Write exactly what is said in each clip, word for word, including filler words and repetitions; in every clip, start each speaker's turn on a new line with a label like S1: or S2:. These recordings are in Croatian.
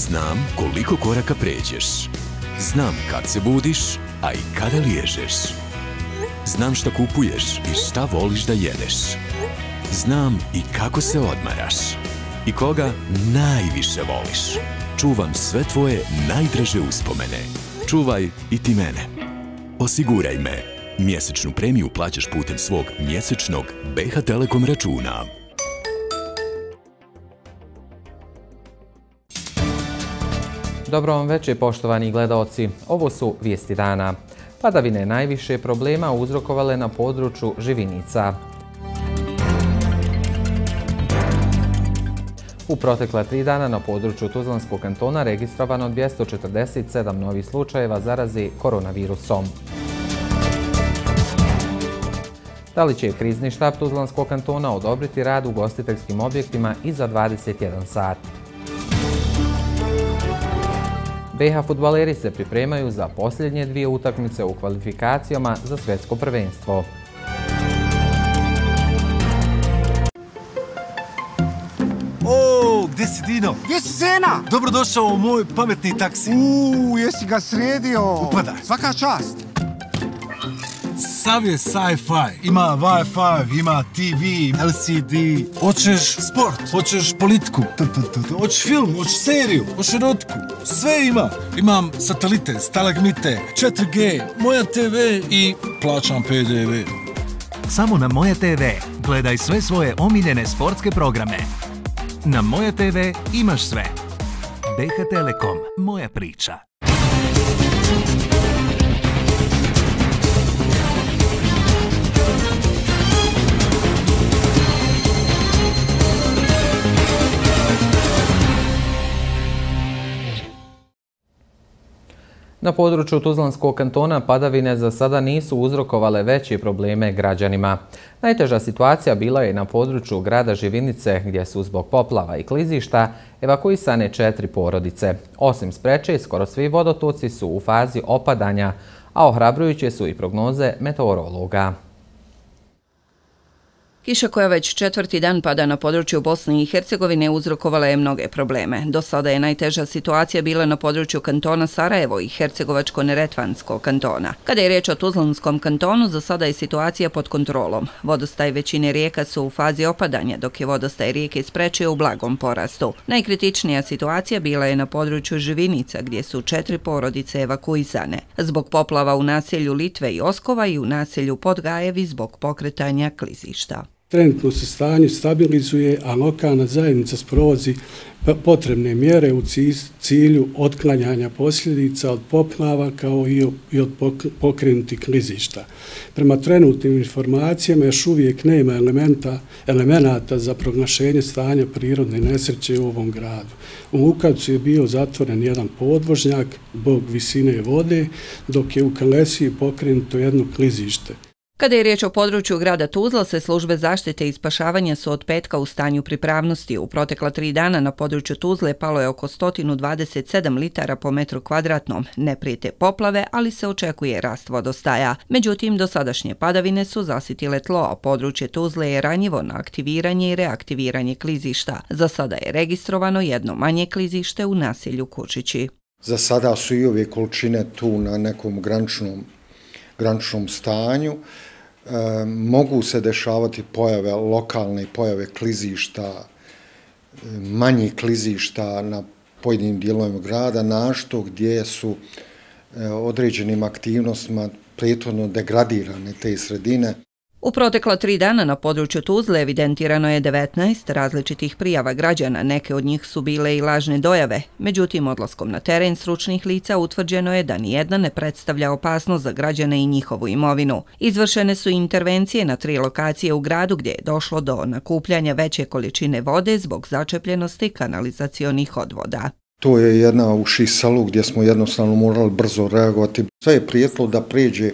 S1: Znam koliko koraka pređeš. Znam kad se budiš, a i kada liježeš. Znam šta kupuješ i šta voliš da jedeš. Znam i kako se odmaraš. I koga najviše voliš. Čuvam sve tvoje najdraže uspomene. Čuvaj i ti mene. Osiguraj me. Mjesečnu premiju plaćaš putem svog mjesečnog B H Telekom računa.
S2: Dobro vam večer, poštovani gledaoci. Ovo su vijesti dana. Padavine najviše problema uzrokovale na području Živinica. U protekla tri dana na području Tuzlanskog kantona registrovano dvjesto četrdeset sedam novih slučajeva zaraze koronavirusom. Da li će krizni štab Tuzlanskog kantona odobriti rad u ugostiteljskim objektima i za dvadeset jedan sat? B H fudbaleri se pripremaju za posljednje dvije utakmice u kvalifikacijama za svjetsko prvenstvo.
S3: O, gdje si Dino?
S4: Gdje si Zena?
S3: Dobrodošao u moj pametni taksi.
S4: Uuu, jesi ga sredio?
S3: Upadaj.
S4: Svaka čast.
S3: Sav je sci-fi. Ima Wi-Fi, ima T V, L C D. Hoćeš sport, hoćeš politiku, hoćeš film, hoćeš seriju, hoćeš erotku. Sve ima. Imam satelite, stalagmite, četiri G, Moja T V i plaćam P D V.
S5: Samo na Moja T V gledaj sve svoje omiljene sportske programe. Na Moja T V imaš sve. B H Telekom, moja priča.
S2: Na području Tuzlanskog kantona padavine za sada nisu uzrokovale veće probleme građanima. Najteža situacija bila je na području grada Živinice, gdje su zbog poplava i klizišta evakuisane četiri porodice. Osim Spreče, skoro svi vodotoci su u fazi opadanja, a ohrabrujuće su i prognoze meteorologa.
S6: Kiša koja već četvrti dan pada na području Bosne i Hercegovine uzrokovala je mnoge probleme. Do sada je najteža situacija bila na području kantona Sarajevo i Hercegovačko-Neretvanskog kantona. Kada je riječ o Tuzlanskom kantonu, za sada je situacija pod kontrolom. Vodostaj većine rijeka su u fazi opadanja, dok je vodostaj rijeke Spreče u blagom porastu. Najkritičnija situacija bila je na području Živinica, gdje su četiri porodice evakuisane. Zbog poplava u naselju Litve i Oskova i u naselju Podgajevi zbog pokretanja klizišta.
S7: Trenutno se stanje stabilizuje, a lokalna zajednica sprovodi potrebne mjere u cilju otklanjanja posljedica od poplava kao i od pokrenutih klizišta. Prema trenutnim informacijama još uvijek nema elemenata za proglašenje stanja prirodne nesreće u ovom gradu. U Lukavcu je bio zatvoren jedan podvožnjak zbog visine vode, dok je u Kalesiji pokrenuto jedno klizište.
S6: Kada je riječ o području grada Tuzla, se službe zaštite i spašavanja su od petka u stanju pripravnosti. U protekla tri dana na području Tuzle palo je oko sto dvadeset sedam litara po metru kvadratnom. Ne prijete poplave, ali se očekuje rast vodostaja. Međutim, dosadašnje padavine su zasitile tlo, a područje Tuzle je ranjivo na aktiviranje i reaktiviranje klizišta. Za sada je registrovano jedno manje klizište u naselju Kučići.
S8: Za sada su i ove količine tu na nekom graničnom, graničnom stanju. E, mogu se dešavati pojave, lokalne pojave klizišta, manjih klizišta na pojedinim dijelovima grada, našto gdje su e, određenim aktivnostima prethodno degradirane te sredine.
S6: U protekla tri dana na području Tuzle evidentirano je devetnaest različitih prijava građana, neke od njih su bile i lažne dojave. Međutim, odlaskom na teren stručnih lica utvrđeno je da nijedna ne predstavlja opasnost za građane i njihovu imovinu. Izvršene su intervencije na tri lokacije u gradu gdje je došlo do nakupljanja veće količine vode zbog začepljenosti kanalizacionih odvoda.
S8: To je jedna u Šisalu gdje smo jednostavno morali brzo reagovati. Sve je prijetilo da pređe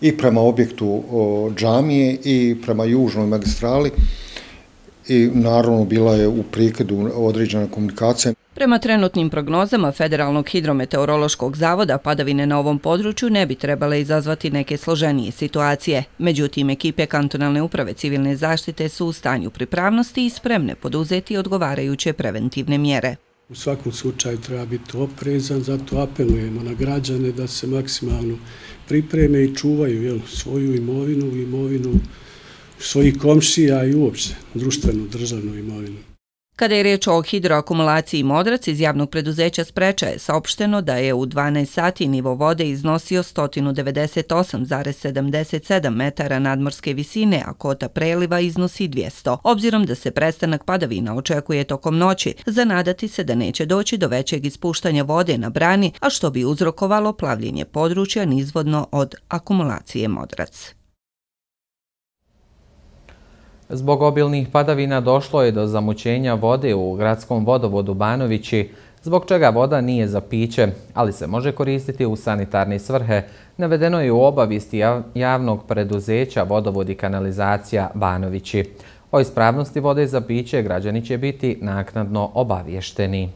S8: i prema objektu o, džamije i prema južnoj magistrali i naravno bila je u prekidu određena komunikacija.
S6: Prema trenutnim prognozama Federalnog hidrometeorološkog zavoda, padavine na ovom području ne bi trebale izazvati neke složenije situacije. Međutim, ekipe kantonalne uprave civilne zaštite su u stanju pripravnosti i spremne poduzeti odgovarajuće preventivne mjere.
S7: U svakom slučaju treba biti oprezan, zato apelujemo na građane da se maksimalno pripreme i čuvaju jel, svoju imovinu, imovinu svojih komšija i uopšte društvenu državnu imovinu.
S6: Kada je riječ o hidroakumulaciji Modrac, iz javnog preduzeća Spreča je saopšteno da je u dvanaest sati nivo vode iznosio sto devedeset osam zarez sedamdeset sedam metara nadmorske visine, a kota preliva iznosi dvjesto. Obzirom da se prestanak padavina očekuje tokom noći, zanadati se da neće doći do većeg ispuštanja vode na brani, a što bi uzrokovalo plavljenje područja nizvodno od akumulacije Modrac.
S2: Zbog obilnih padavina došlo je do zamućenja vode u gradskom vodovodu Banovići, zbog čega voda nije za piće, ali se može koristiti u sanitarne svrhe, navedeno je u obavijesti javnog preduzeća Vodovod i kanalizacija Banovići. O ispravnosti vode za piće građani će biti naknadno obavješteni.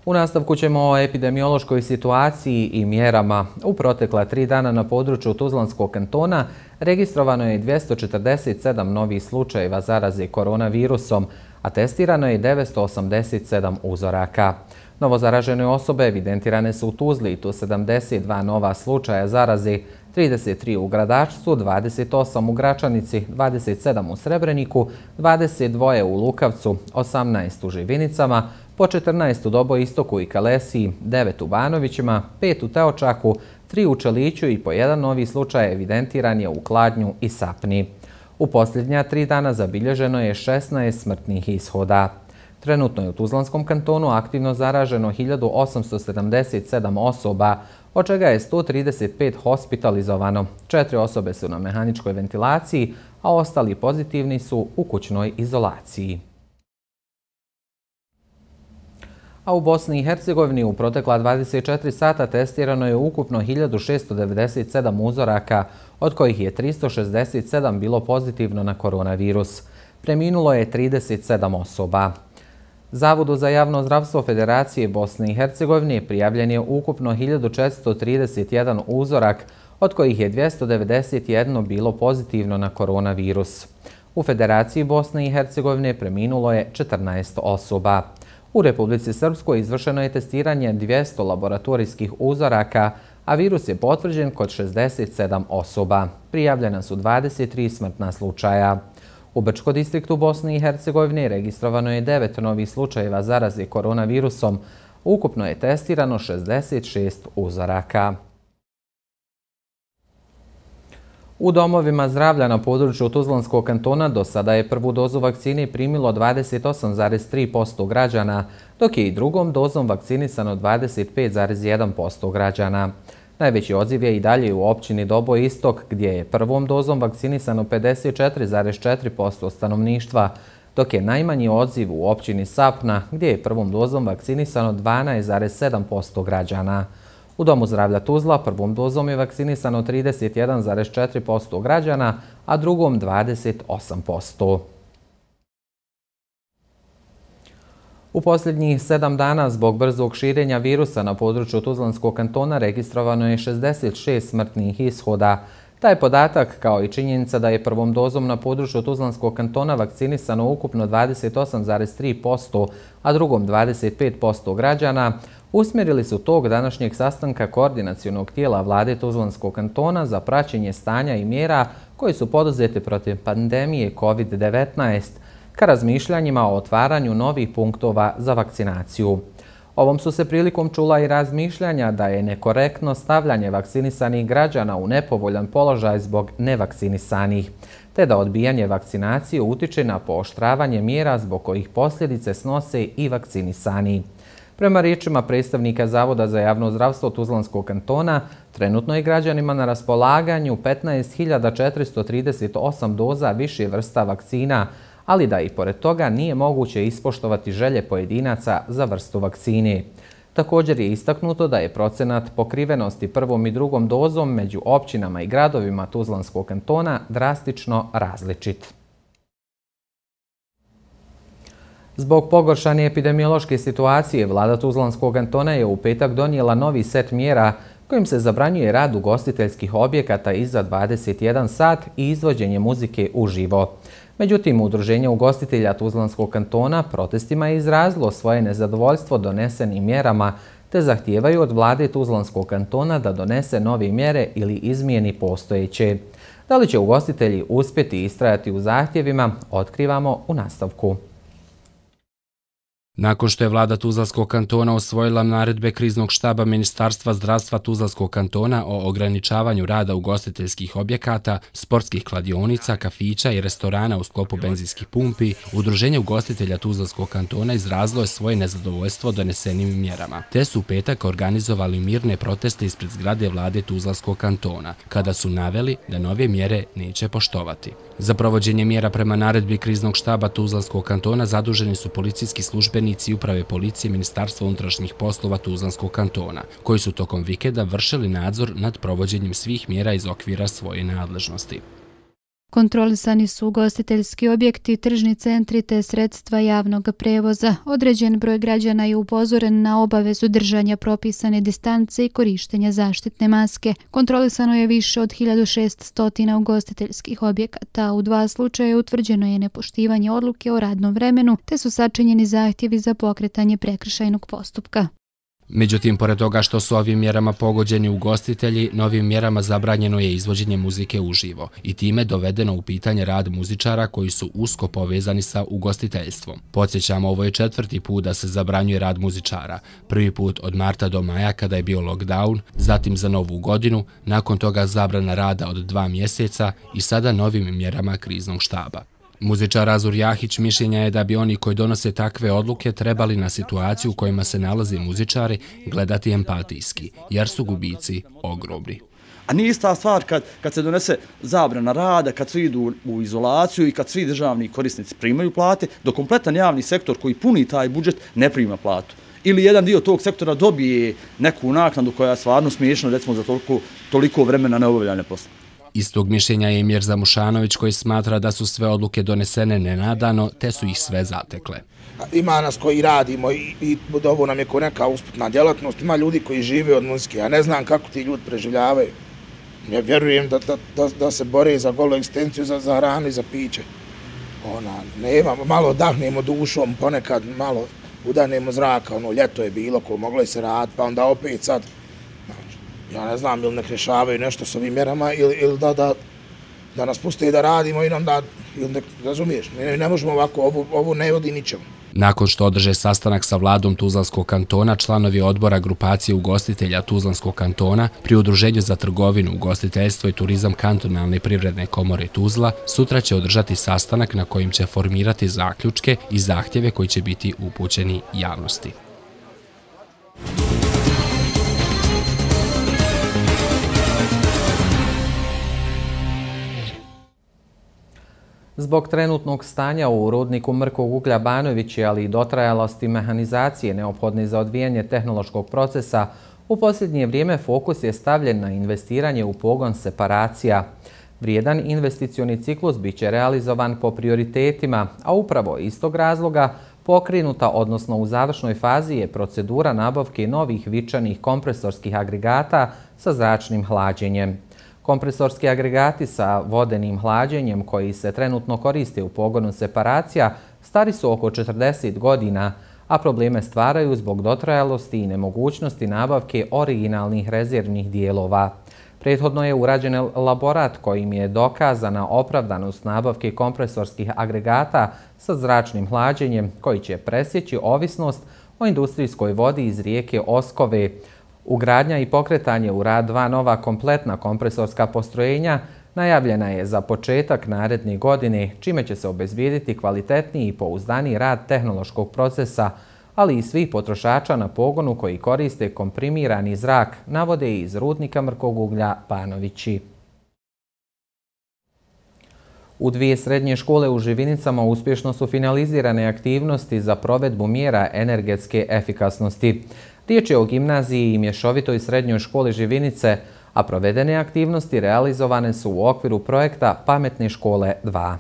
S2: U nastavku ćemo o epidemiološkoj situaciji i mjerama. U protekla tri dana na području Tuzlanskog kantona registrovano je dvjesto četrdeset sedam novih slučajeva zaraze koronavirusom, a testirano je devetsto osamdeset sedam uzoraka. Novozaražene osobe evidentirane su u Tuzli, tu sedamdeset dva nova slučaja zaraze, trideset tri u Gradačcu, dvadeset osam u Gračanici, dvadeset sedam u Srebreniku, dvadeset dva u Lukavcu, osamnaest u Živinicama, po četrnaest u Doboistoku i Kalesiji, devet u Banovićima, pet u Teočaku, tri u Čeliću i po jedan novi slučaj evidentiran je u Kladnju i Sapni. U posljednja tri dana zabilježeno je šesnaest smrtnih ishoda. Trenutno je u Tuzlanskom kantonu aktivno zaraženo hiljadu osamsto sedamdeset sedam osoba, od čega je sto trideset pet hospitalizovano. Četiri osobe su na mehaničkoj ventilaciji, a ostali pozitivni su u kućnoj izolaciji. A u Bosni i Hercegovini u protekla dvadeset četiri sata testirano je ukupno hiljadu šesto devedeset sedam uzoraka, od kojih je tristo šezdeset sedam bilo pozitivno na koronavirus. Preminulo je trideset sedam osoba. Zavodu za javno zdravstvo Federacije Bosne i Hercegovine prijavljen je ukupno hiljadu četiristo trideset jedan uzorak, od kojih je dvjesto devedeset jedan bilo pozitivno na koronavirus. U Federaciji Bosne i Hercegovine preminulo je četrnaest osoba. U Republici Srpskoj izvršeno je testiranje dvjesto laboratorijskih uzoraka, a virus je potvrđen kod šezdeset sedam osoba. Prijavljena su dvadeset tri smrtna slučaja. U Brčko distriktu Bosne i Hercegovine registrovano je devet novih slučajeva zaraze koronavirusom. Ukupno je testirano šezdeset šest uzoraka. U domovima zdravlja na području Tuzlanskog kantona do sada je prvu dozu vakcine primilo dvadeset osam zarez tri posto građana, dok je i drugom dozom vakcinisano dvadeset pet zarez jedan posto građana. Najveći odziv je i dalje u općini Doboistok, gdje je prvom dozom vakcinisano pedeset četiri zarez četiri posto stanovništva, dok je najmanji odziv u općini Sapna, gdje je prvom dozom vakcinisano dvanaest zarez sedam posto građana. U Domu zdravlja Tuzla prvom dozom je vakcinisano trideset jedan zarez četiri posto građana, a drugom dvadeset osam posto. U posljednjih sedam dana zbog brzog širenja virusa na području Tuzlanskog kantona registrovano je šezdeset šest smrtnih ishoda. Taj podatak, kao i činjenica da je prvom dozom na području Tuzlanskog kantona vakcinisano ukupno dvadeset osam zarez tri posto, a drugom dvadeset pet posto građana, usmjerili su tog današnjeg sastanka koordinacionog tijela vlade Tuzlanskog kantona za praćenje stanja i mjera koji su poduzete protiv pandemije kovid devetnaest, ka razmišljanjima o otvaranju novih punktova za vakcinaciju. Ovom su se prilikom čula i razmišljanja da je nekorektno stavljanje vakcinisanih građana u nepovoljan položaj zbog nevakcinisanih, te da odbijanje vakcinacije utiče na pooštravanje mjera zbog kojih posljedice snose i vakcinisani. Prema riječima predstavnika Zavoda za javno zdravstvo Tuzlanskog kantona, trenutno je građanima na raspolaganju petnaest hiljada četiristo trideset osam doza više vrsta vakcina, ali da i pored toga nije moguće ispoštovati želje pojedinaca za vrstu vakcine. Također je istaknuto da je procenat pokrivenosti prvom i drugom dozom među općinama i gradovima Tuzlanskog kantona drastično različit. Zbog pogoršane epidemiološke situacije, vlada Tuzlanskog kantona je u petak donijela novi set mjera kojim se zabranjuje rad ugostiteljskih objekata iza dvadeset jedan sat i izvođenje muzike uživo. Međutim, Udruženje ugostitelja Tuzlanskog kantona protestima je izrazilo svoje nezadovoljstvo donesenim mjerama te zahtijevaju od vlade Tuzlanskog kantona da donese nove mjere ili izmijeni postojeće. Da li će ugostitelji uspjeti istrajati u zahtjevima, otkrivamo u nastavku.
S9: Nakon što je vlada Tuzlanskog kantona usvojila naredbe kriznog štaba Ministarstva zdravstva Tuzlanskog kantona o ograničavanju rada ugostiteljskih objekata, sportskih kladionica, kafića i restorana u sklopu benzinskih pumpi, Udruženje ugostitelja Tuzlanskog kantona izrazilo je svoje nezadovoljstvo donesenim mjerama. Te su u petak organizovali mirne proteste ispred zgrade vlade Tuzlanskog kantona, kada su naveli da nove mjere neće poštovati. Za provođenje mjera prema naredbi kriznog štaba Tuzlanskog kantona zaduženi su policijski službenici uprave policije Ministarstva unutrašnjih poslova Tuzlanskog kantona, koji su tokom vikenda vršili nadzor nad provođenjem svih mjera iz okvira svoje nadležnosti.
S10: Kontrolisani su ugostiteljski objekti, tržni centri te sredstva javnog prevoza. Određen broj građana je upozoren na obavezu držanja propisane distance i korištenja zaštitne maske. Kontrolisano je više od hiljadu šesnaest ugostiteljskih objekata. U dva slučaja utvrđeno je nepoštivanje odluke o radnom vremenu te su sačinjeni zahtjevi za pokretanje prekršajnog postupka.
S9: Međutim, pored toga što su ovim mjerama pogođeni ugostitelji, novim mjerama zabranjeno je izvođenje muzike uživo i time dovedeno u pitanje rad muzičara koji su usko povezani sa ugostiteljstvom. Podsjećamo, ovo je četvrti put da se zabranjuje rad muzičara. Prvi put od marta do maja kada je bio lockdown, zatim za novu godinu, nakon toga zabrana rada od dva mjeseca i sada novim mjerama kriznog štaba. Muzičar Azur Jahić mišljenja je da bi oni koji donose takve odluke trebali na situaciju u kojima se nalaze muzičari gledati empatijski, jer su gubici ogromni.
S11: A nije ista stvar kad, kad se donese zabrana rada, kad svi idu u izolaciju i kad svi državni korisnici primaju plate, dok kompletan javni sektor koji puni taj budžet ne prima platu. Ili jedan dio tog sektora dobije neku naknadu koja je stvarno smiješna, recimo za toliko, toliko vremena neobavljanja posla.
S9: Istog mišljenja je i Mirza Mušanović koji smatra da su sve odluke donesene nenadano, te su ih sve zatekle.
S12: Ima nas koji radimo i, i ovo nam je ko neka usputna djelatnost, ima ljudi koji žive od muzike, ja ne znam kako ti ljudi preživljavaju. Ja vjerujem da, da, da, da se bore za golu egzistenciju, za, za hranu i za piće. Ona, nema, malo dahnemo dušom, ponekad malo udanemo zraka, ono, ljeto je bilo, ko moglo je se raditi, pa onda opet sad. Ja ne znam, ili nek rješavaju nešto s ovim mjerama ili, ili da, da, da nas puste da radimo i nam da, ili nek, razumiješ, ne, ne možemo ovako, ovo, ovo ne vodi ničemu.
S9: Nakon što održe sastanak sa vladom Tuzlanskog kantona, članovi odbora grupacije ugostitelja Tuzlanskog kantona pri Udruženju za trgovinu, ugostiteljstvo i turizam kantonalne privredne komore Tuzla sutra će održati sastanak na kojim će formirati zaključke i zahtjeve koji će biti upućeni javnosti.
S2: Zbog trenutnog stanja u rudniku mrkog uglja Banovići, ali i dotrajalosti mehanizacije neophodne za odvijanje tehnološkog procesa, u posljednje vrijeme fokus je stavljen na investiranje u pogon separacija. Vrijedan investicioni ciklus biće realizovan po prioritetima, a upravo iz tog razloga pokrenuta, odnosno u završnoj fazi je procedura nabavke novih vičanih kompresorskih agregata sa zračnim hlađenjem. Kompresorski agregati sa vodenim hlađenjem koji se trenutno koriste u pogonu separacija stari su oko četrdeset godina, a probleme stvaraju zbog dotrajalosti i nemogućnosti nabavke originalnih rezervnih dijelova. Prethodno je urađen elaborat kojim je dokazana opravdanost nabavke kompresorskih agregata sa zračnim hlađenjem koji će presjeći ovisnost o industrijskoj vodi iz rijeke Oskove. Ugradnja i pokretanje u rad dva nova kompletna kompresorska postrojenja najavljena je za početak naredne godine, čime će se obezbijediti kvalitetniji i pouzdaniji rad tehnološkog procesa, ali i svih potrošača na pogonu koji koriste komprimirani zrak, navode iz rudnika mrkog uglja Banovići. U dvije srednje škole u Živinicama uspješno su finalizirane aktivnosti za provedbu mjera energetske efikasnosti. Riječ je o gimnaziji i mješovitoj srednjoj školi Živinice, a provedene aktivnosti realizovane su u okviru projekta Pametne škole dva.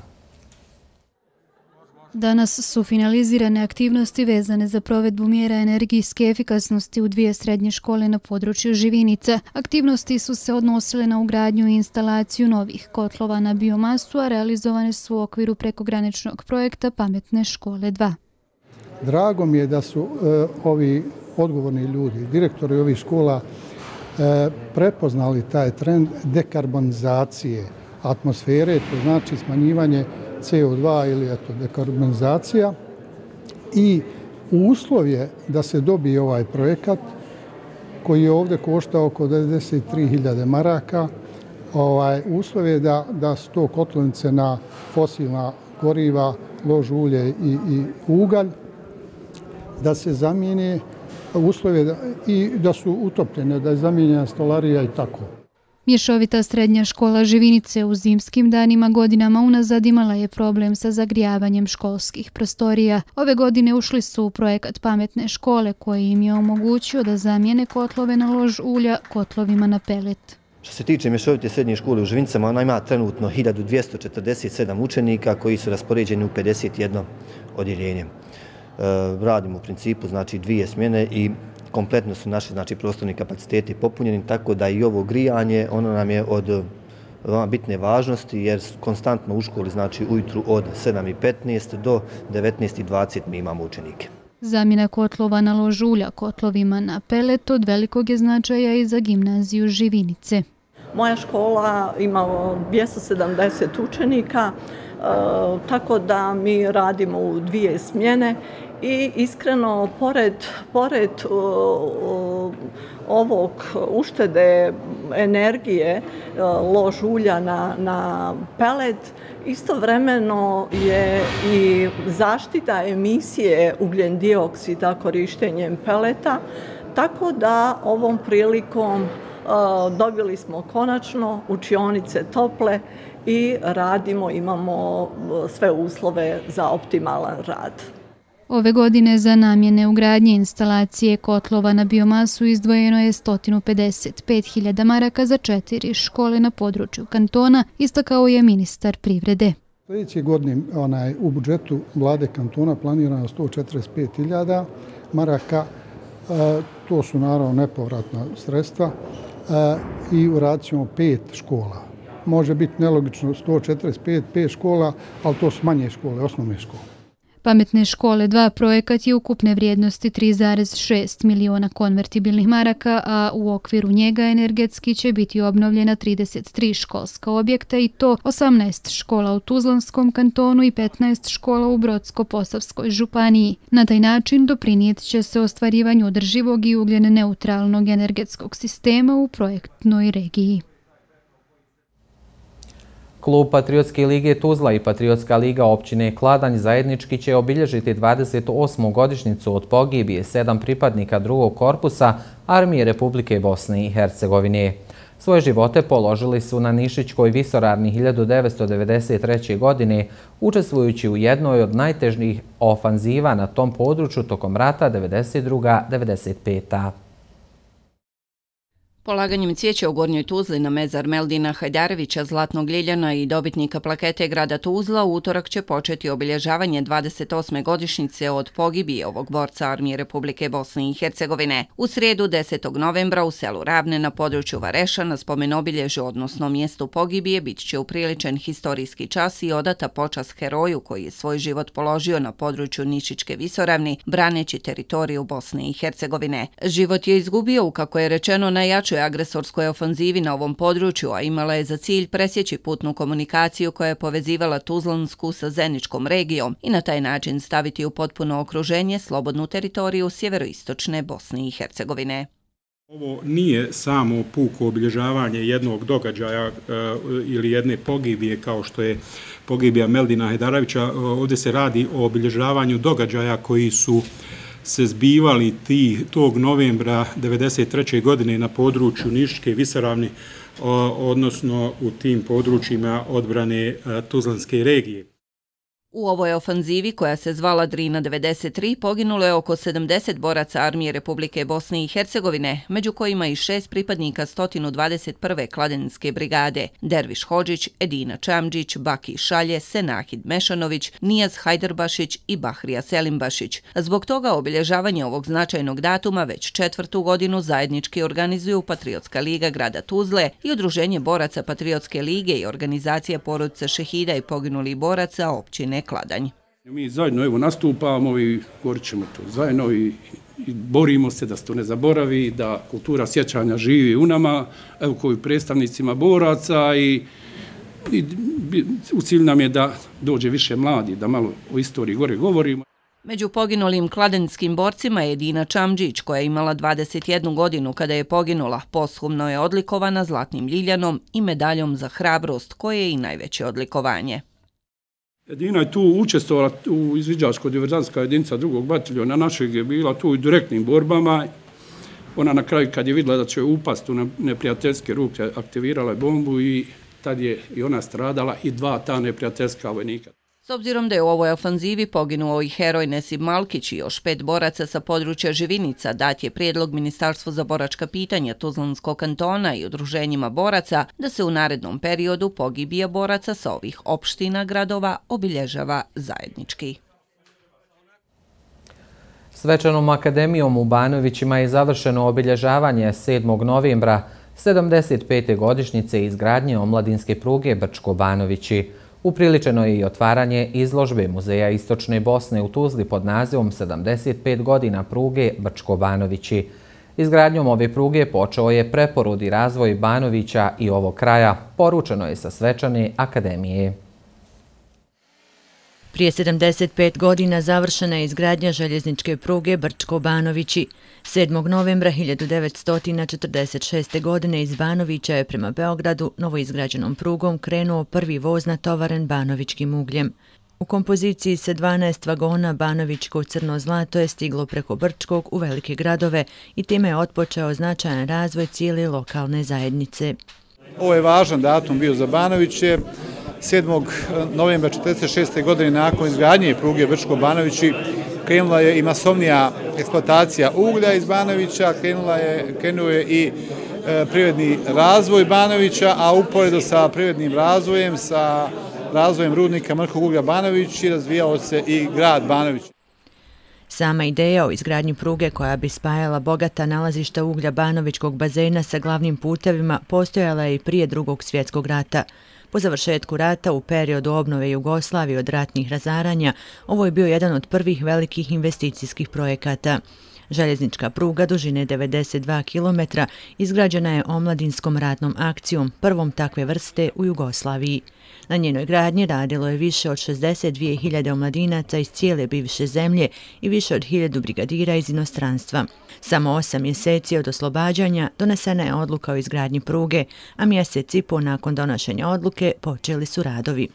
S10: Danas su finalizirane aktivnosti vezane za provedbu mjera energijske efikasnosti u dvije srednje škole na području Živinica. Aktivnosti su se odnosile na ugradnju i instalaciju novih kotlova na biomasu, a realizovane su u okviru prekograničnog projekta Pametne škole dva.
S13: Drago mi je da su e, ovi odgovorni ljudi, direktori ovih škola, e, prepoznali taj trend dekarbonizacije atmosfere, to znači smanjivanje C O dva ili eto, dekarbonizacija, i uslov je da se dobije ovaj projekat koji je ovdje koštao oko devedeset tri hiljade maraka. Ovaj, uslov je da, da su to kotlovnice na fosilna goriva, lož ulje i, i ugalj, da se zamijene uslove da, i da su utopljene, da je zamijenjena stolarija i tako.
S10: Mješovita srednja škola Živinice u zimskim danima godinama unazad imala je problem sa zagrijavanjem školskih prostorija. Ove godine ušli su u projekat Pametne škole koji im je omogućio da zamijene kotlove na lož ulja kotlovima na pelet.
S14: Što se tiče mješovite srednje škole u Živinicama, ona ima trenutno hiljadu dvjesto četrdeset sedam učenika koji su raspoređeni u pedeset jedno odjeljenje. Radimo u principu znači dvije smjene i kompletno su naši znači prostorni kapaciteti popunjeni, tako da i ovo grijanje ono nam je od bitne važnosti jer konstantno u školi znači ujutru od sedam i petnaest do devetnaest i dvadeset mi imamo učenike.
S10: Zamjena kotlova na lož ulja kotlovima na pelet od velikog je značaja i za gimnaziju Živinice.
S15: Moja škola ima dvjesto sedamdeset učenika, tako da mi radimo u dvije smjene i iskreno, pored, pored ovog uštede energije, lož ulja na, na pelet, istovremeno je i zaštita emisije ugljen dioksida korištenjem peleta, tako da ovom prilikom dobili smo konačno učionice tople i radimo, imamo sve uslove za optimalan rad.
S10: Ove godine za namjene ugradnje instalacije kotlova na biomasu izdvojeno je sto pedeset pet hiljada maraka za četiri škole na području kantona, istakao je ministar privrede.
S13: Sljedeće godine onaj, u budžetu vlade kantona planirano sto četrdeset pet hiljada maraka, e, to su naravno nepovratna sredstva, e, i uradit ćemo pet škola. Može biti nelogično sto četrdeset pet, pet škola, ali to su manje škole, osnovne škole.
S10: Pametne škole dva projekat je ukupne vrijednosti tri zarez šest miliona konvertibilnih maraka, a u okviru njega energetski će biti obnovljena trideset tri školska objekta i to osamnaest škola u Tuzlanskom kantonu i petnaest škola u Brodsko-Posavskoj županiji. Na taj način doprinijet će se ostvarivanju održivog i ugljen neutralnog energetskog sistema u projektnoj regiji.
S2: Klub Patriotske lige Tuzla i Patriotska liga općine Kladanj zajednički će obilježiti dvadeset osmu godišnjicu od pogibije sedam pripadnika drugog korpusa Armije Republike Bosne i Hercegovine. Svoje živote položili su na Nišićkoj visoravni hiljadu devetsto devedeset treće. godine, učestvujući u jednoj od najtežnijih ofanziva na tom području tokom rata devedeset druga devedeset peta.
S6: Polaganjem cvijeća u Gornjoj Tuzli na mezar Meldina Hajdarevića, Zlatnog Ljiljana i dobitnika plakete grada Tuzla u utorak će početi obilježavanje dvadeset osme godišnjice od pogibije ovog borca Armije Republike Bosne i Hercegovine. U srijedu desetog novembra u selu Ravne na području Vareša na spomenobilježju, odnosno mjestu pogibije, bit će upriličen historijski čas i odata počast heroju koji je svoj život položio na području Nišićke visoravni, braneći teritoriju Bosne i Hercegovine. Život je izgubio u, kako je rečeno, najjačoj agresorskoj ofanzivi na ovom području, a imala je za cilj presjeći putnu komunikaciju koja je povezivala Tuzlansku sa Zeničkom regijom i na taj način staviti u potpuno okruženje slobodnu teritoriju sjeveroistočne Bosne i Hercegovine.
S16: Ovo nije samo puko obilježavanje jednog događaja e, ili jedne pogibije kao što je pogibija Meldina Hajdarevića. Ovdje se radi o obilježavanju događaja koji su se zbivali ti, tog novembra devedeset treće. godine na području Nišićke visoravni, odnosno u tim područjima odbrane Tuzlanske regije.
S6: U ovoj ofanzivi, koja se zvala Drina devedeset tri, poginulo je oko sedamdeset boraca Armije Republike Bosne i Hercegovine, među kojima i šest pripadnika sto dvadeset prve kladenske brigade, Derviš Hodžić, Edina Čamđić, Baki Šalje, Senahid Mešanović, Nijaz Hajdarbašić i Bahrija Selimbašić. Zbog toga obilježavanje ovog značajnog datuma već četvrtu godinu zajednički organizuju Patriotska liga grada Tuzle i Udruženje boraca Patriotske lige i organizacija porodica šehida i poginulih boraca općine Kladanj.
S17: Mi zajedno evo nastupamo i govorit ćemo to zajedno i, i borimo se da se to ne zaboravi, da kultura sjećanja živi u nama, evo koji predstavnicima boraca i, i u cilj nam je da dođe više mladi, da malo o istoriji gore govorimo.
S6: Među poginulim kladanjskim borcima je Edina Čamđić, koja je imala dvadeset jednu godinu kada je poginula. Posthumno je odlikovana zlatnim ljiljanom i medaljom za hrabrost, koje je i najveće odlikovanje.
S17: Edina je tu učestvovala u izviđačko-diverzantska jedinica drugog bataljona našeg je bila tu u direktnim borbama. Ona na kraju kad je vidjela da će upast u neprijateljske ruke, aktivirala je bombu i tad je i ona stradala i dva ta neprijateljska vojnika.
S6: S obzirom da je u ovoj ofanzivi poginuo i heroj Nesib Malkić i još pet boraca sa područja Živinica, dat je prijedlog Ministarstvu za boračka pitanja Tuzlanskog kantona i udruženjima boraca da se u narednom periodu pogibija boraca sa ovih opština gradova obilježava zajednički.
S2: Svečanom akademijom u Banovićima je završeno obilježavanje sedmog novembra sedamdeset pete godišnjice izgradnje omladinske pruge Brčko-Banovići. Upriličeno je i otvaranje izložbe Muzeja Istočne Bosne u Tuzli pod nazivom sedamdeset pet godina pruge Brčko-Banovići. Izgradnjom ove pruge počeo je preporod i razvoj Banovića i ovog kraja, poručeno je sa svečane akademije.
S18: Prije sedamdeset pet godina završena je izgradnja željezničke pruge Brčko-Banovići. sedmog novembra hiljadu devetsto četrdeset šeste. godine iz Banovića je prema Beogradu novoizgrađenom prugom krenuo prvi voz natovaren banovićkim ugljem. U kompoziciji se dvanaest vagona banovićko crno zlato je stiglo preko Brčkog u velike gradove i time je otpočeo značajan razvoj cijele lokalne zajednice.
S19: Ovo je važan datum bio za Banoviće. sedmog novembra četrdeset šeste. godine nakon izgradnje pruge Brčko-Banovići krenula je i masovnija eksploatacija uglja iz Banovića, krenula je, krenuo je i e, privredni razvoj Banovića, a uporedo sa privrednim razvojem, sa razvojem rudnika mrkog uglja Banovići razvijao se i grad Banović.
S18: Sama ideja o izgradnji pruge koja bi spajala bogata nalazišta uglja Banovićkog bazena sa glavnim putevima postojala je i prije drugog svjetskog rata. Po završetku rata u periodu obnove Jugoslavije od ratnih razaranja, ovo je bio jedan od prvih velikih investicijskih projekata. Željeznička pruga dužine devedeset dva kilometra izgrađena je omladinskom ratnom akcijom, prvom takve vrste u Jugoslaviji. Na njenoj gradnji radilo je više od šezdeset dvije hiljade omladinaca iz cijele bivše zemlje i više od hiljadu brigadira iz inostranstva. Samo osam mjeseci od oslobađanja donesena je odluka o izgradnji pruge, a mjesec i po nakon donošenja odluke počeli su radovi.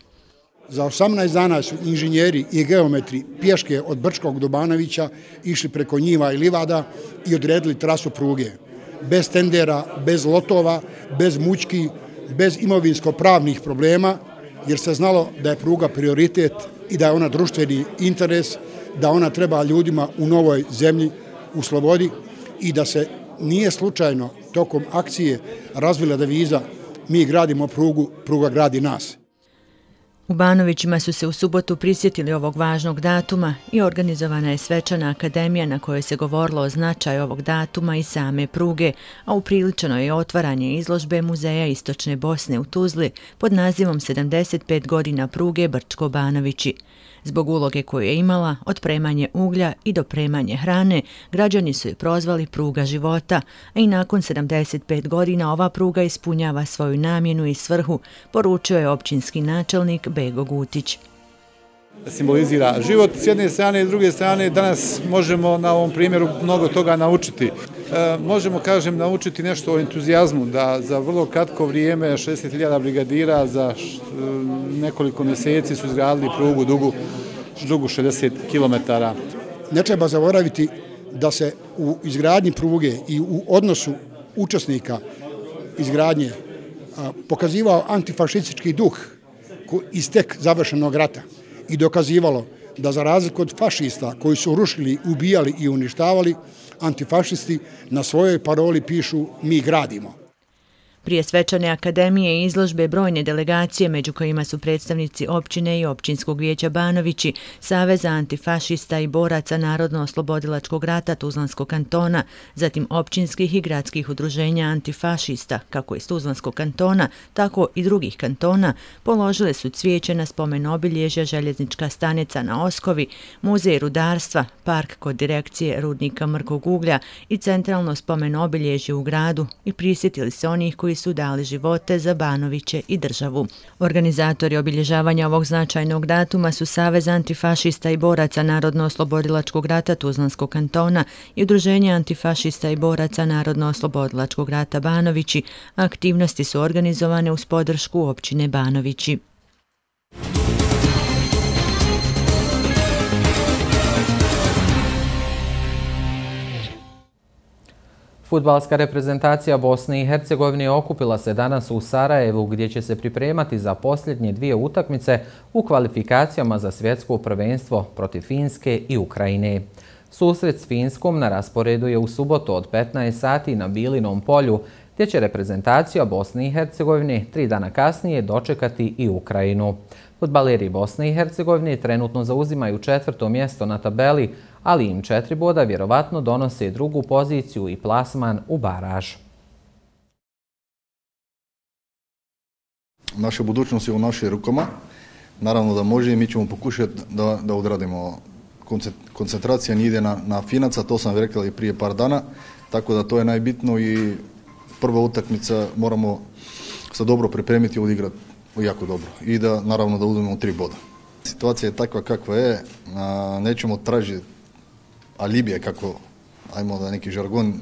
S20: Za osamnaest dana su inženjeri i geometri pješke od Brčkog do Banovića išli preko njiva i livada i odredili trasu pruge. Bez tendera, bez lotova, bez mučki, bez imovinsko-pravnih problema, jer se znalo da je pruga prioritet i da je ona društveni interes, da ona treba ljudima u novoj zemlji, u slobodi i da se nije slučajno tokom akcije razvila deviza mi gradimo prugu, pruga gradi nas.
S18: U Banovićima su se u subotu prisjetili ovog važnog datuma i organizovana je svečana akademija na kojoj se govorilo o značaju ovog datuma i same pruge, a upriličeno je otvaranje izložbe Muzeja Istočne Bosne u Tuzli pod nazivom sedamdeset pet godina pruge Brčko-Banovići. Zbog uloge koju je imala, od premanje uglja i do premanje hrane, građani su je prozvali pruga života, a i nakon sedamdeset pet godina ova pruga ispunjava svoju namjenu i svrhu, poručio je općinski načelnik Bego Gutić.
S19: Simbolizira život s jedne strane i s druge strane danas možemo na ovom primjeru mnogo toga naučiti. E, možemo, kažem, naučiti nešto o entuzijazmu, da za vrlo kratko vrijeme šezdeset hiljada brigadira za š, nekoliko mjeseci su izgradili prugu dugu, dugu šezdeset kilometara.
S20: Ne treba zaboraviti da se u izgradnji pruge i u odnosu učesnika izgradnje a, pokazivao antifašistički duh iz tek završenog rata. i dokazivalo da za razliku od fašista koji su rušili, ubijali i uništavali, antifašisti na svojoj paroli pišu mi gradimo.
S18: Prije svečane akademije i izložbe brojne delegacije, među kojima su predstavnici općine i općinskog vijeća Banovići, Saveza antifašista i boraca Narodno-oslobodilačkog rata Tuzlanskog kantona, zatim općinskih i gradskih udruženja antifašista, kako iz Tuzlanskog kantona, tako i drugih kantona, položile su cvijeće na spomen obilježja Željeznička stanica na Oskovi, Muzej rudarstva, park kod direkcije rudnika mrkog uglja i centralno spomen obilježje u gradu i prisjetili se onih koji su dali živote za Banoviće i državu. Organizatori obilježavanja ovog značajnog datuma su Savez antifašista i boraca Narodno-oslobodilačkog rata Tuzlanskog kantona i Udruženje antifašista i boraca Narodno-oslobodilačkog rata Banovići. Aktivnosti su organizovane uz podršku općine Banovići.
S2: Fudbalska reprezentacija Bosne i Hercegovine okupila se danas u Sarajevu gdje će se pripremati za posljednje dvije utakmice u kvalifikacijama za svjetsko prvenstvo protiv Finske i Ukrajine. Susret s Finskom na rasporedu je u subotu od petnaest sati na Bilinom polju, gdje će reprezentacija Bosne i Hercegovine tri dana kasnije dočekati i Ukrajinu. Fudbaleri Bosne i Hercegovine trenutno zauzimaju četvrto mjesto na tabeli, ali im četiri boda vjerovatno donose drugu poziciju i plasman u baraž.
S21: Naša budućnost je u našim rukama. Naravno da može i mi ćemo pokušati da, da odradimo. Koncentracija nije ide na, na Finaca, to sam rekao i prije par dana, tako da to je najbitno i prva utakmica moramo se dobro pripremiti i odigrati jako dobro i da naravno da uzmemo tri boda. Situacija je takva kakva je, a, nećemo tražiti alibije kako, ajmo da neki žargon.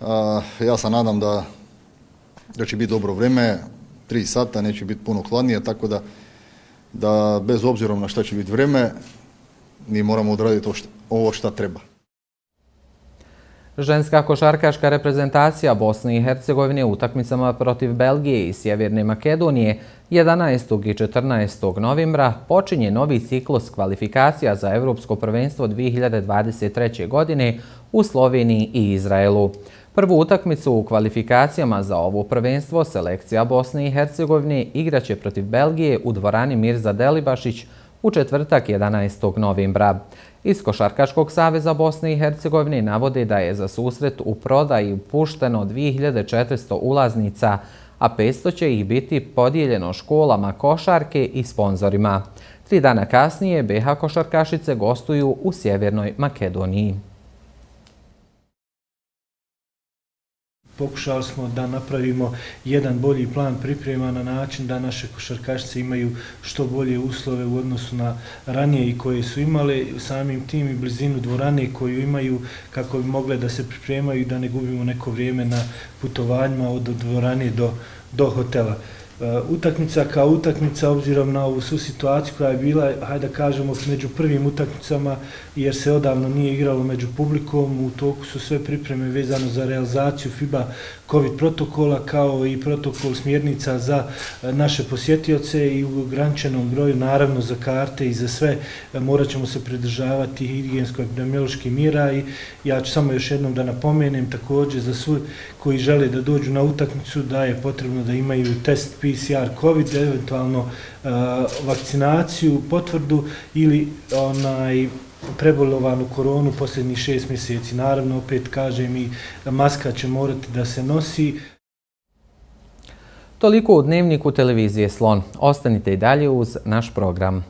S21: A, ja se nadam da, da će biti dobro vreme, tri sata, neće biti puno hladnije, tako da, da bez obzirom na šta će biti vreme, mi moramo odraditi ovo šta treba.
S2: Ženska košarkaška reprezentacija Bosne i Hercegovine u utakmicama protiv Belgije i Sjeverne Makedonije jedanaestog i četrnaestog novembra počinje novi ciklus kvalifikacija za Evropsko prvenstvo dvije hiljade dvadeset treće. godine u Sloveniji i Izraelu. Prvu utakmicu u kvalifikacijama za ovo prvenstvo selekcija Bosne i Hercegovine igraće protiv Belgije u dvorani Mirza Delibašić u četvrtak jedanaestog novembra. Iz Košarkaškog saveza Bosne i Hercegovine navode da je za susret u prodaji pušteno dvije hiljade četiristo ulaznica, a petsto će ih biti podijeljeno školama košarke i sponzorima. Tri dana kasnije be ha košarkašice gostuju u Sjevernoj Makedoniji.
S22: Pokušali smo da napravimo jedan bolji plan priprema na način da naše košarkašice imaju što bolje uslove u odnosu na ranije i koje su imale, samim tim i blizinu dvorane koju imaju kako bi mogle da se pripremaju i da ne gubimo neko vrijeme na putovanjima od dvorane do, do hotela. Utakmica kao utakmica, obzirom na ovu svu situaciju koja je bila, hajde da kažemo, među prvim utakmicama, jer se odavno nije igralo među publikom, u toku su sve pripreme vezano za realizaciju FIBA COVID protokola, kao i protokol smjernica za naše posjetioce i u ograničenom broju, naravno za karte i za sve, morat ćemo se pridržavati higijensko-epidemioloških mjera i ja ću samo još jednom da napomenem također za sve koji žele da dođu na utakmicu da je potrebno da imaju test P C R COVID, eventualno uh, vakcinaciju, potvrdu ili onaj prebolovanu koronu posljednjih šest mjeseci. Naravno, opet kažem, i maska će morati da se nosi.
S2: Toliko u Dnevniku televizije Slon. Ostanite i dalje uz naš program.